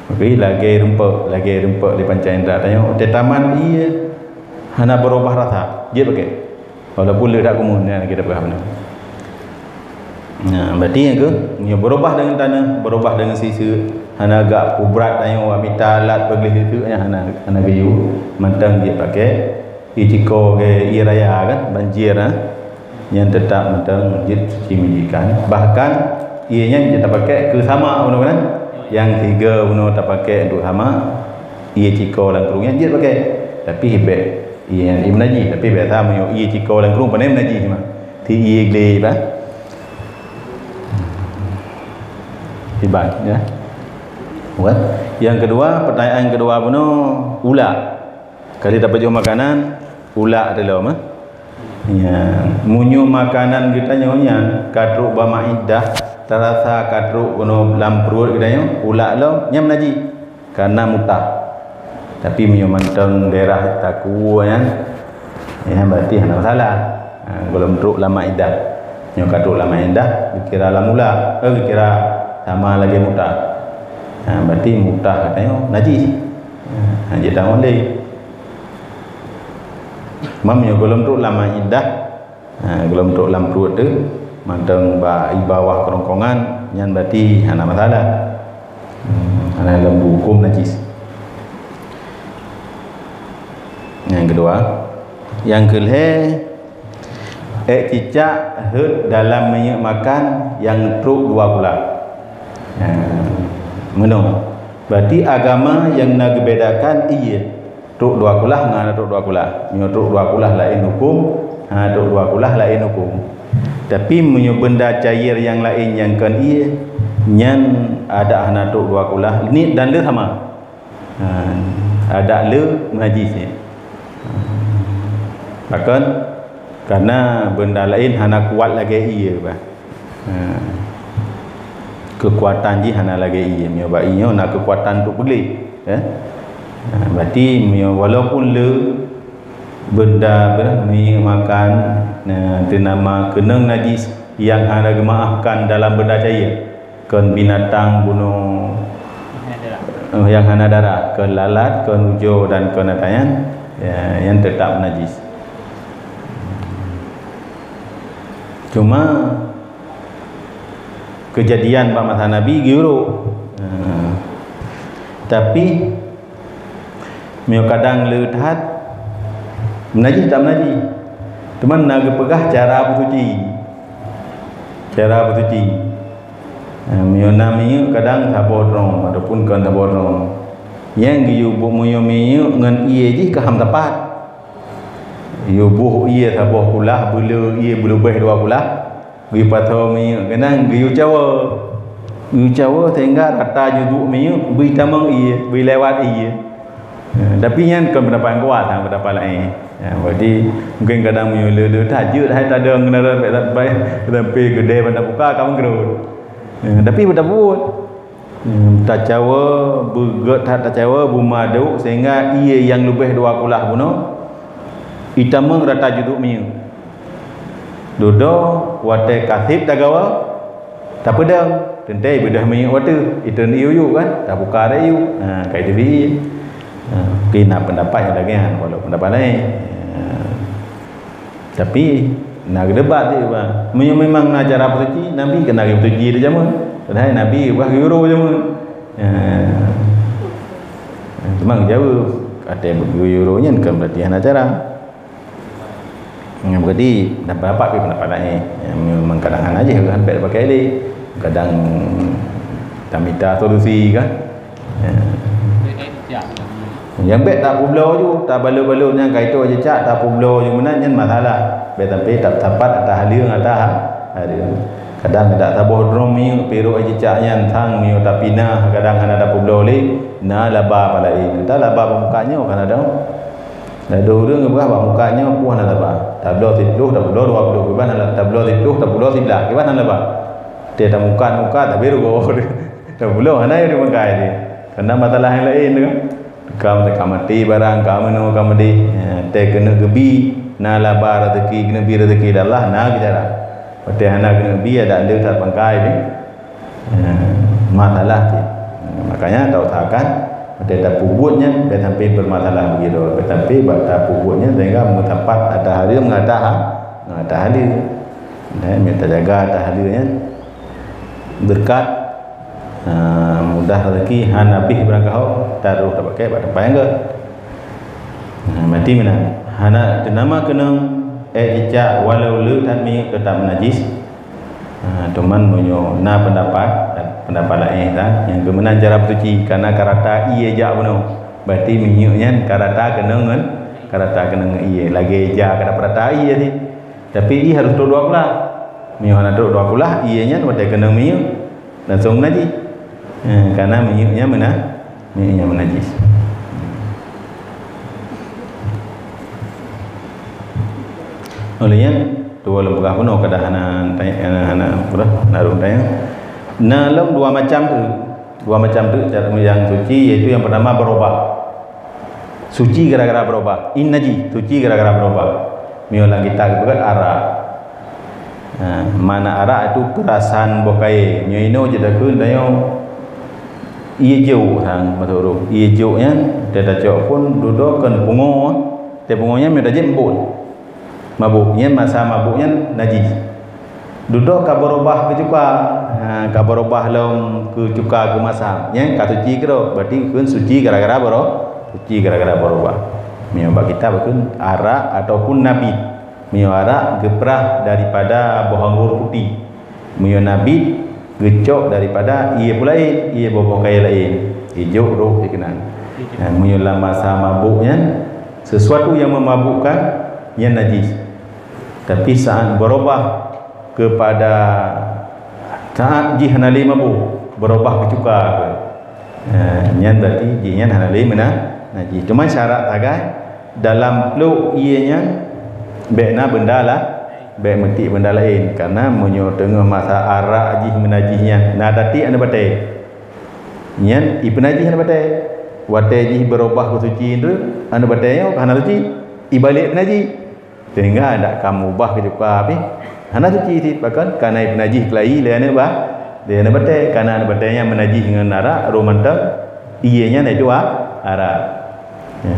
Tapi lagèe rumpok, lagèe rumpok di panca indra tanyoe, teuh tamat ié hana beurubah rasa. Jeuet pakè. Walaupun le that kumeun, nyan kita peugah beuna. Nah, berarti nyang keu, nyoe beurubah deungon taneuh, beurubah deungon siseuek, hana gak peubrat tanyoe mita alat peugleh siseuek nyan hana, hana geuyue, mantong jeuet pakè. Ié cikoe geuh ié raya kan, banjir, ha. Nyan teutap mantong jeuet suci menjijikan. Bahkan ié nyan jeuet tapakè keu samak bunoe kan. Nyang sigoe bunoe tapakè untuk samak, ié cikoe lam krueng nyan jeuet pakè. Tapi bèk ié nyan meunajih, tapi biasa meunyoe ié cikoe lam krueng pane meunajih cuma. Ti ié gleh bah. Iban, ya. Bukan? Yang kedua, pertanyaan kedua bunoe, ulak. Kali tapajoh makanan, ulak teuh lom, eh. Ya, meunyoe makanan geutanyoe nyan ka trok bak maidah, tarasa ka trok bunoe lam pruet geutanyoe, ulak lom, nyan meunajih. Karena mutah. Tapi meunyoe mantong daerah takue nyan, nyan berarti hana masalah. Ha, gohlom trok lam maidah. Nyoe ka trok lam maidah, geukira lam ulak, eh, geukira sama lagèe mutah. Ha, berarti mutah geutanyoe najis. Ha, jeuet tamong lé. Meunyoe gohlom trok lam maidah, ha, gohlom trok lam pruet teuh, mantong bak i bawah kerongkongan, nyan berarti hana masalah. Hmm, hana lembu, huköm najis. Nyang keudua, nyang keulhèe, ék cicak heuet dalam minyeuk makan nyang trok dua kulah. Nah, meunoe. Berarti agama nyang na geubedakan ié trok dua kulah ngon hana trok dua kulah. Meunyoe trok dua kulah laén huköm, hana trok dua kulah laén huköm. Tapi meunyoe beunda cair nyang laén nyang kon ié, nyan adak hana trok dua kulah, niet dan le sama. Ha, adak le meunajis nyan. Pakon? Karena beunda laén hana kuat lagèe ié bah. Ha. Keukuatan jih hana lagèe ié. Meunyoe bak ié nyoe na keukuatan untuk peugleh, eh? Ha, berarti meunyoe walaupun le beunda, beunda minyeuk makan, na, teunama keunong najis nyang hana geumaafkan dalam beunda cair. Kon binatang bunoe, eh, nyang hana darah, kon lalat, kon ujoe dan kon ata nyan, ya, nyan teutap najis. Cuma keujadian bak masa Nabi geuyue rôk. Nah, tapi meunyoe kadang le that, meunajih tak meunajih. Teuma na geupeugah cara beusuci. Cara beusuci. Ha, meunyoe na minyeuk kadang saboh drom ataupun kon saboh drom. Nyang geuyue buet meunyoe minyeuk ngon ié jih ka ham tapat. Yue boh ié saboh kulah, beuleu ié beuleubeh dua kulah. Geuyue pasoe minyeuk keunan geuyue cawa. Geuyue cawa sehingga rata jiduek minyeuk, beu tamong ié, beu lewat ié. Ya, tapi nyan kon pendapat kuat, ha, pendapat laén. Ya, berarti mungkin kadang meunyoe le-le that jeuet hai tadong keunan bèk sampai, sampai geudeh ban tabuka ka meugrot. Ya, tapi beu tabuet. Hmm, tacawa, beugét that tacawa, beumadok sehingga ié nyang leubeh dua kulah bunoe, itamong rata jiduek minyeuk. Dudoe watèe ka sép tagawa, tapeudong, teuntèe beudôh minyeuk watèe, itôn ié-ié kan, tabuka rot ié. Ha, ka iteubiet. Ha, mungkin na pendapat nyang lagèe nyan, walau pendapat laén. Ha. Tapi na geudebat di bah. Meunyoe memang na cara peusuci, Nabi keunan geupeusuci di jameun. Padahai Nabi bah geuyue uroe jameun. Ya. Cuma geujaweueb, watèe geuyue uroe nyan kon berarti hana cara. Ya, berarti dapat-dapat pih pendapat laén. Ya, memang kadang hana jih kan bèk pakai lé. Kadang tamita solusi kan. Ya. Nyang bèk tapeubloe ju, tabalot-balot nyang ka itôh cicak, tapeubloe ju meunan nyan masalah. Bèk sampai tapat atas haleue ngon atas ha-, haleue. Kadang dak saboh drom minyeuk pirok cicak nyan sang meunyoe tapinah, kadang hana tapeubloe lé, na laba pah laén. Entah laba bak muka nyoe kan ada. Ladôm ureueng geupeugah bak muka nyoe peue hana laba. Tabloe siplôh, tapeubloe dua ploh, kiban hana, tabloe siplôh, tapeubloe siblaih, kiban hana laba. Teuh tamuka-muka, tapi rugoe. Tapeubloe hana nyang dimeukai teuh. Karena masalah nyang laén tu kan. Ka, ka maté barang, ka meunoe, ka maté. Ya, teuh keuneuk geubi, na laba rezeki, keuneuk bi rezeki dari Allah, na keu cara. Watèe hana keuneuk bi, adak lé that pangkai pih. Ya, masalah cit. Makanya tausahakan, watèe tapeubuet nyan, bèk sampai bermasalah begitu. Bèk sampai bak tapeubuet nyan sehingga meusapat atas hareuem ngon atas ha-, ngon atas haleue. Dan mita jaga atas haleue nyan. Beureukat, ha, mudah rezeki, hana abéh barang kahô, taroh tapakék bak teumpat nyang gèt. Ha, berarti meunan. Hana teunama keunong èk cicak walau le that minyeuk teutap meunajis. Ha, teuma meunyoe na pendapat, pendapat laén, ha, nyang keu meunan cara peusuci, karena ka rata ié jak bunoe. Berarti minyeuk nyan ka rata keunong ngon, ka rata keunong ngon ié. Lagèe ija ka rata ié tadi. Tapi ié harôh trôk dua kulah. Meunyoe hana trôk dua kulah, ié nyan watèe keunong minyeuk langsông meunajis. Eh, karena minyeuk nyan meuna-, minyeuk nyan meunajis. Oleh nyan, tu lôn peugah bunoe kadang hana tanya, hana, hana, apa dah, hana rhot tanya. Na lom dua macam tu. Dua macam tu cara nyang suci, yaitu yang pertama berubah. Suci gara-gara berubah. Ié najis, suci gara-gara berubah. Meunyoe lam kitab geupeugah arak. Ha, makna arak itu perasan boh kayèe. Meunyoe inoe jeuet takheun tanyoe ié jôk sang, maksud ureueng. Ié jôk nyan teuh tacok phôn dudoe kon pungo, teuh pungo nyan meunyoe tajép embôn. Mabôk, nyan masa mabôk nyan najis. Dudoe ka beurubah keu cuka. Ha, ka beurubah lom keu cuka keu masam. Nyan ka suci keudroe, berarti kheun suci gara-gara beuro-, suci gara-gara beurubah. Meunyoe bak kitab kheun arak ataupun nabit. Meunyoe arak geuprah daripada boh anggô putéh. Meunyoe nabit geucok daripada ié peue laén, ié boh-boh kayèe laén. Ié jôk rôh dikeue nan. Ha, meunyoe lam masa mabôk nyan, sesuatu yang memabukkan, nyan najis. Tapi saat berubah kepada saat jih hana lé mabôk, berubah keu cuka ke. Ha, nyan berarti jih nyan hana lé meuna-, najis. Cuma syarat sagai dalam plôk ié nyan bèk na benda la-, bèk meutik benda laén. Karena meunyoe teungoh masa arak jih meunajih nyan, na tatiek aneuk batèe. Nyan ipeunajih aneuk batèe. Watèe jih beurubah keu suci tu, aneuk batèe nyoe hana suci, ibalék peunajih. Sehingga dak ka meubah keu cuka pih hana suci cit, pakon ka na ipeunajih keulayi lé aneuk ba-, lé aneuk batèe, ka na aneuk batèe nyan meunajih ngon arak, rôh mantong ié nyan itu a-, arak. Ya.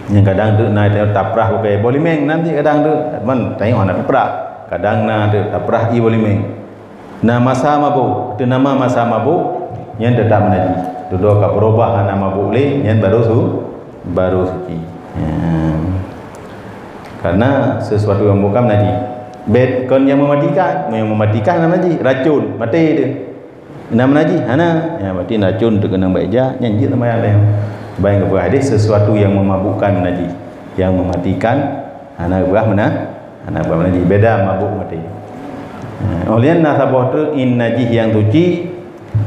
Nyang kadang tu na taprah pakai boh limeng, nanti kadang tu man tayong hana taprah. Kadang na tu taprah ié boh limeng. Na masa mabôk, teunama masa mabôk, nyan teutap meunajih. Dudoe ka beurubah hana mabôk lé, nyan baru su-, baru suci. Ya. Karena sesuatu yang bukan najis. Bèk kon nyang meumatikan, nyang meumatikan na najih, racun, maté teuh. Na najih, hana. Ya, berarti racun teuh keunong bak ija, nyan jeuet seumayang lé. Sebab nyang geupeugah hadis, sesuatu yang memabukkan najih, yang mematikan, hana geupeugah meunan, hana geupeugah najih. Beda mabuk maté. Ha, óh lheueh nyan na saboh treuk in najih nyang suci,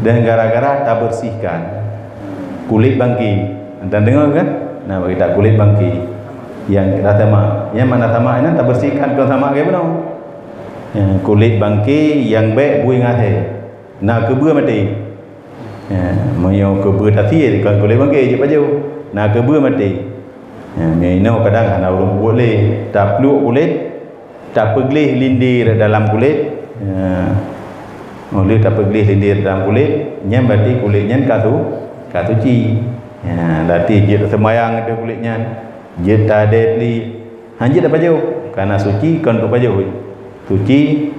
dan gara-gara tabersihkan kulét bangké. Anda deungoe kan? Nah, bagi tak kulét bangké nyang rasa mak. Nyang mana sama inan tabersihkan, kon sama lagèe bunoe. Ya, kulét bangké nyang bèk bui ngon asèe. Na keubeue maté. Ya, meunyoe keubeue tasie, kon kulét bangké jeuet pajoh. Na keubeue maté. Ya, meunyoe inoe kadang hana ureueng peubuet lé. Tapluek kulét, tapeugleh lindir dalam kulét. Ya. Óh lheueh tapeugleh lindir dalam kulét, nyan berarti kulét nyan ka su-, ka suci. Ya, berarti jeuet seumayang ateueh kulét nyan, jeuet tadèe lé, han jeuet tapajoh. Karena suci kon untuk pajoh. Suci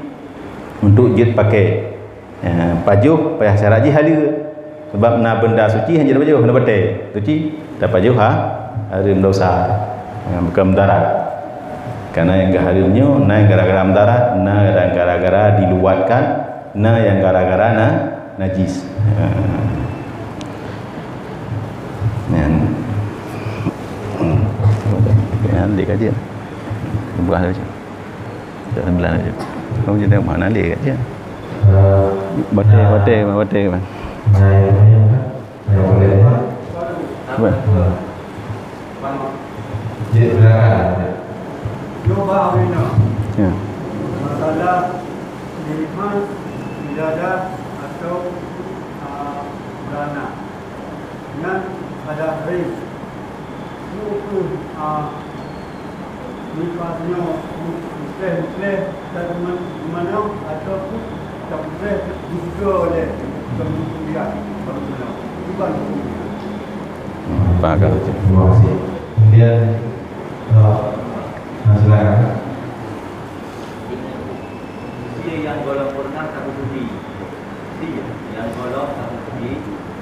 untuk jeuet pakai. Ya, pajoh payah syarat jih haleue. Sebab na benda suci hana jeuet tapajoh, na batèe. Suci tapajoh ha, hareuem dosa. Ya, bukan mudarat. Karena nyang geuhareuem nyoe na nyang gara-gara mudarat, na nyang gara-gara diluwatkan, na nyang gara-gara na najis. Ya. Nyan. Nyan dikaji. Buah tu. Dah sembilan aja. Kamu jadi mana dia kat dia? Batai, batai, batai, bang. Apa? Ya. Masalah nifas, wiladah atau, ah, beranak. Nyan ada hari. Nyoe kheueh, ah, nifas nyoe mutleh-mutleh dan man-, manoe ataupun tamutleh juga oleh kemudian bagaimana? Iban hukumnya. Faham. Terima kasih. Kemudian, eh, nah, silakan. Usia nyang gohlom peureunah tapeusudi. Usia nyang gohlom tapeusudi,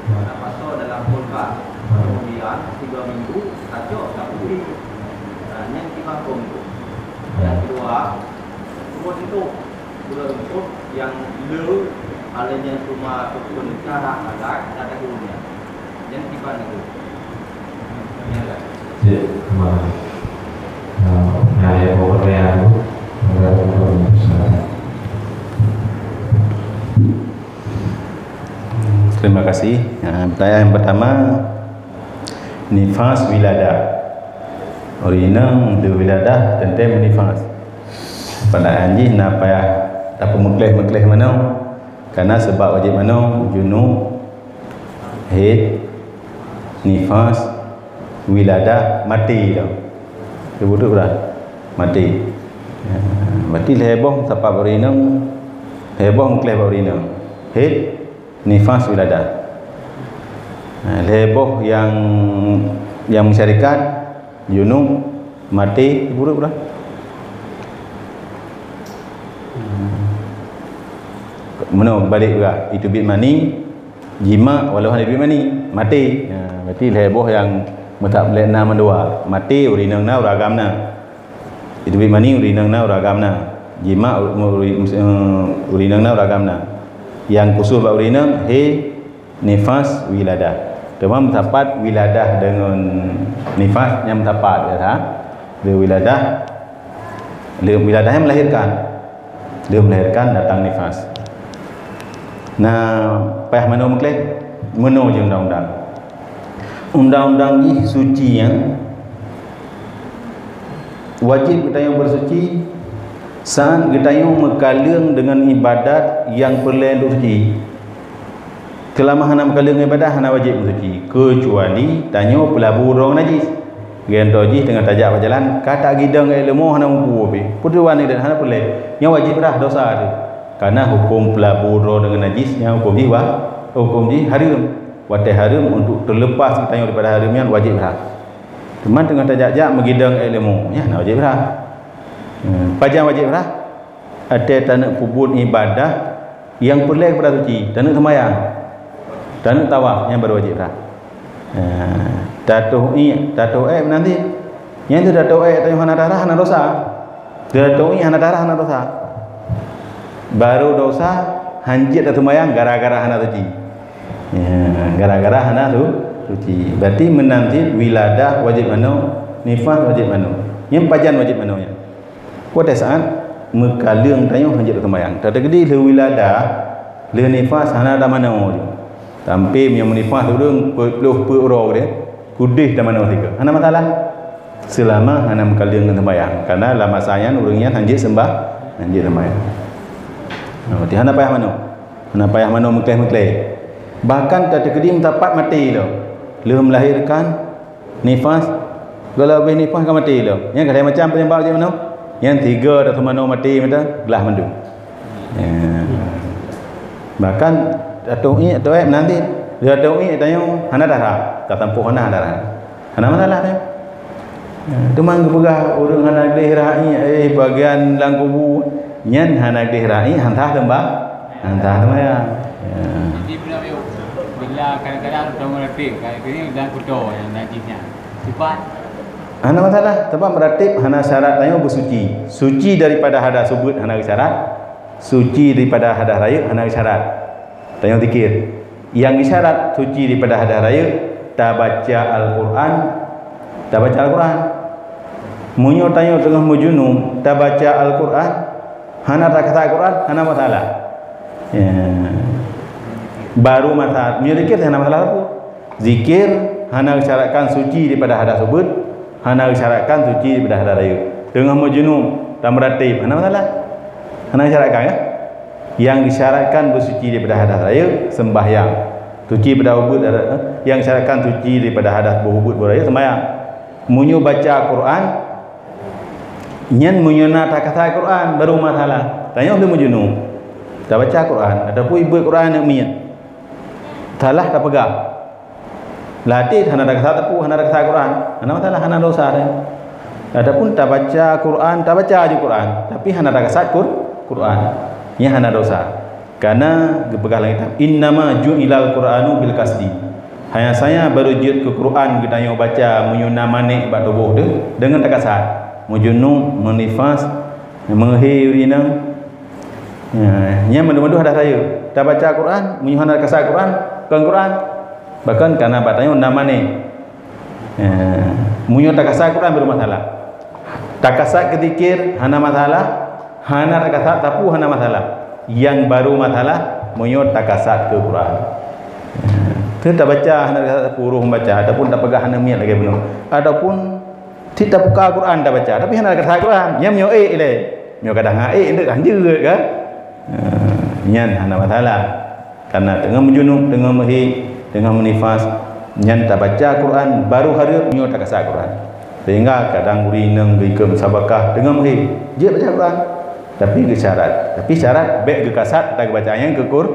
tapasoe dalam kulkas. Kemudian, tiga minggu, tacok tapeusudi. Nah, nyan kiban huköm tu. Nyang keudua, dua sitôh, dua sitôh nyang le, hal nyan cuma peukon cara agak, tak ada guna. Nyang kiban itu. Nyang lah. Cik, terima kasih. Nah, nah, ya, pokoknya aku, ada pokoknya, silakan. Terima kasih. Ha, pertanyaan yang pertama, nifas wiladah. Ureueng inong di wiladah teuntèe meunifas. Padahai jih na payah tapeumeukleh-meukleh manoe. Karena sebab wajéb manoe, junub, haid, nifas, wiladah, maté tau. Beutôi dah. Maté. Ya, berarti lhèe boh sapat bak ureueng inong, lhèe boh meukleh bak ureueng inong. Haid, nifas, wiladah. Ha, lhèe boh nyang, nyang meusyarikat, junub, maté, beutôi dah. Meunoe balek juga, itu bit mani, jima walau hana teubiet mani, maté. Ha, berarti lhèe boh nyang meutab lé na mandua, maté, ureueng inong na, ureueng agam na. Teubiet mani, ureueng inong na, ureueng agam na. Jima, ur-, ur-, ur-, ureueng inong na, ureueng agam na. Nyang khusus bak ureueng inong, haid, nifas, wiladah. Teuma meusapat wiladah deungon nifas nyang meusapat, ya, ha? Di wiladah, di wiladah nyang melahirkan. Dia melahirkan datang nifas. Nah, payah manoe meukleh, meunoe jih undang-undang. Undang-undang jih suci nyan wajéb geutanyoe beusuci saat geutanyoe meukaleueng deungon ibadat nyang peureulèe untuk suci. Seulama hana meukaleueng ibadat, hana wajéb meusuci, keucuali tanyoe peulabu droe najis. Geutanyoe jih teungoh tajak bak jalan, ka tagidong ék leumo hana mupu pih. Peue tujuan nyan hana peureulèe. Nyan wajéb brah dosa teuh. Karena huköm peulabu droe deungon najis, nyan huköm jih wa-, huköm jih hareuem. Watèe hareuem untuk teulepas geutanyoe daripada hareuem nyan wajéb brah. Teuma teungoh tajak-jak meugidong ék leumo, nyan hana wajéb brah. Hmm, pajan wajéb brah? Watèe taneuk peubuet ibadah nyang peureulèe keupada suci, taneuk seumayang, taneuk tawaf, nyan baru wajéb brah. Eh, tatoh ié, tatoh ék meunan cit. Nyan teuh tatoh ék, tanyoe hana rhah, hana dosa. Lheuh teuingat hana darah, hana dosa. Baru dosa, hanjeuet taseumayang gara-gara hana suci. Ya, gara-gara hana su-, suci. Berarti meunan cit wiladah wajéb manoe, nifas wajéb manoe. Nyang pajan wajéb manoe nyan? Watée saát meukaleueng tanyoe hanjeuet taseumayang. Tateukeudi lheuh wiladah, lheuh nifas hana tamanoe ju. Tapi meunyoe meunifas ureuëng peuet ploh peuet uroe deh, keudeh tamanoe sigoe. Hana masalah. Seulama hana meukaleueng ngon seumayang. Karena lam masa nyan ureuëng nyan hanjeuet seumbah, hanjeuet seumayang. Nah, berarti hana payah manoe. Hana payah manoe meukleh-meukleh. Bahkan tateukeudi meusapat maté lom. Lheuh meulahirkan, nifas, kalau habéh nifas ka maté lom. Nyan ka lhée macam penyebab jih manoe. Nyan tiga atau manoe maté mata, glah mandum. Ya. Bahkan ateueh iék, ateueh iék meunan cit. Di ateueh iék tanyoe hana darah, ka sampoe hana darah. Hana masalah nyan. Ya, teuma geupeugah ureuëng hana gleh rahi, eh, bagian lam kubu, nyan hana gleh rahi, hana sah seumbah, hana sah seumayang. Ya. Jadi bila, bila kadang-kadang ureuëng meuratéb, kadang-kadang dalam kuto yang najis nyan. Sifat. Hana masalah, sebab meuratéb hana syarat tanyoe beusuci. Suci daripada hadas ubeut hana syarat. Suci daripada hadas rayeuk hana syarat. Tanyoe zikir. Nyang syarat suci daripada hadas rayeuk, tabaca Al-Quran, tabaca Al-Quran. Meunyoe tanyoe teungoh meujunub, tabaca Al-Quran, hana takasat Al-Quran, hana masalah. Ya. Baru masa, meunyoe zikir hana masalah apa. Zikir hana syaratkan suci daripada hadas ubeut, hana syaratkan suci daripada hadas rayeuk. Teungoh meujunub, tameuratéb, hana masalah. Hana syaratkan, ya? Nyang disyaratkan beusuci daripada hadas rayeuk, sembahyang. Suci daripada ubeut, eh, nyang disyaratkan suci daripada hadas boh ubeut boh rayeuk, sembahyang. Meunyoe baca Quran, nyan meunyoe na takasat Quran, baru masalah. Tanyoe lheuh meujunub, tabaca Quran, ataupun ibeuet Quran aneuk miet. Salah tapeugah. Latih hana takasat teupeu, hana takasat Quran. Hana masalah, hana dosa deh. Adapun tabaca Quran, tabaca aju Quran, tapi hana takasat Qur-, Quran. Nyan hana dosa. Karena geupeugah lam kitab, "Innama ju'ilal Qur'anu bil qasdi." Hanya saja baru jeuet keu Quran geutanyoe baca meunyoe na manéh bak tuboh teuh deungon takasat. Meujunub, meunifas, meuhé ureuëng inong. Ya, nyan mandum-mandum hadas rayeuk. Tabaca Quran, meunyoe hana takasat Quran, kon Quran. Bahkan kana bak tanyoe na manéh. Ya, meunyoe takasat Quran baru masalah. Takasat keu zikir hana masalah, hana takasat sapeue hana masalah. Nyang baru masalah meunyoe takasat keu Quran. Ya. Teuh tabaca hana takasat sapeue huruf baca ataupun tapeugah hana miet lagée bunoe. Ataupun cit tabuka Quran tabaca, tapi hana takasat Quran. Nyan meunyoe ék ilée. Meunyoe kadang hana ék, enteuk hanjeuet kan? Ha, nyan hana masalah. Karena teungoh meujunub, teungoh meuhé, teungoh meunifas, nyan tabaca Quran baru hareuem meunyoe takasat Quran. Sehingga kadang ureuëng inong geuikot musabakah teungoh meuhé, jeuet baca Quran. Tapi geusyarat. Tapi syarat bék geukasat ata geubaca nyan keu Qur-,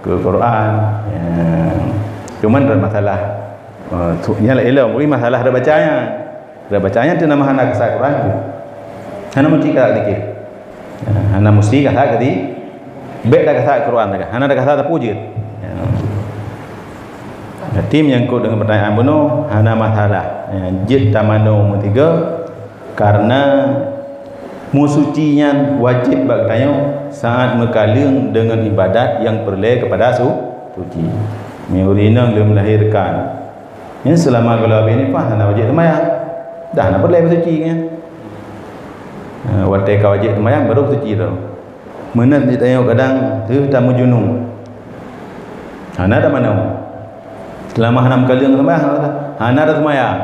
keu Quran. Ya. Cuman ada masalah. Eh, tu, nyan lah ilong, bri masalah ada baca nyan. Ada baca nyan tu nama hana kasat Quran tu. Hana mesti kasat zikir. Eh, hana mesti kasat kati. Bek dah kasat Quran dah. Hana dah kasat apa je. Ya. Jadi menyangkut dengan pertanyaan bunoe, hana masalah. Ya, jeuet tamanoe meusigoe, karena meusuci nyan wajéb bak geutanyoe saat meukaleueng deungon ibadat nyang peureulée keupada su-, suci. Meunyoe ureuëng inong lheueh melahirkan, nyan seulama gohlom habéh nifas hana wajéb seumayang. Dah hana peureulée meusuci nyan. Ha, watée ka wajéb seumayang baru meusuci tu. Meunan di tanyoe kadang teuh tameujunub. Hana tamanoe. Seulama hana meukaleueng seumayang, hana taseumayang.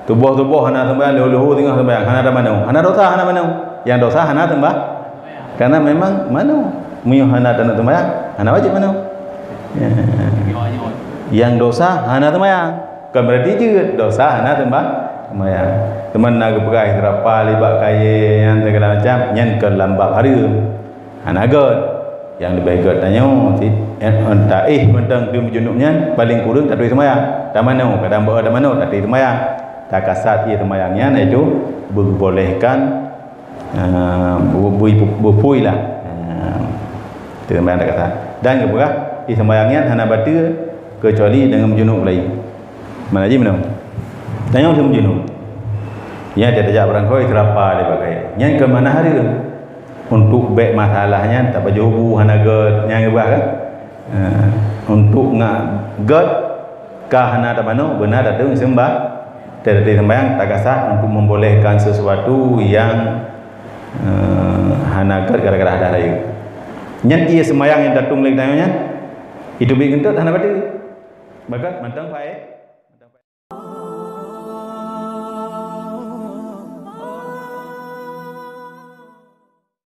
Tuboh-tuboh hana seumayang, leho-leho singoh seumayang, hana tamanoe. Hana dosa, hana manoe. Nyang dosa hana seumayang. Karena memang manoe. Meunyoe hana tamanoe seumayang, hana wajéb manoe. Ya. Nyang dosa hana seumayang. Bukan berarti jeuet dosa hana seumayang. Teuma na geupeugah Israel libak kayée nyan segala macam, nyan keu lambab hareuem. Hana gét. Nyang leubeh gét tanyoe, si, eh, taéh mantong teuh meujunub nyan, paléng kureueng taturi seumayang. Tamanoe, kadang beu tamanoe, taturi seumayang. Takasat ie seumayang nyan, iaitu beubolehkan, eh, bu-, bui-, bupui lah. Eh, teuh seumayang takasat. Dan geupeugah, ie seumayang nyan hana bateue keucuali deungon meujunub laén. Mana jih meunan? Tanyoe lheueh meujunub. Nyan tajak barangkoi seurapa lé bagai. Nyan keu manah hareuem. Untuk bék masalah nyan tapajoh bu hana gét, nyan keubah kan? Eh, untuk ngat gét ka hana tamanoe, beuna tateueng seumbah, tateueng sembahyang tagasah untuk membolehkan sesuatu yang, eh, hana gét gara-gara hadah rayeuk. Nyan ié sembahyang nyang tatueng lé geutanyoe nyan, itu bit keuneuk hana bateue. Bahkan mantong paéh.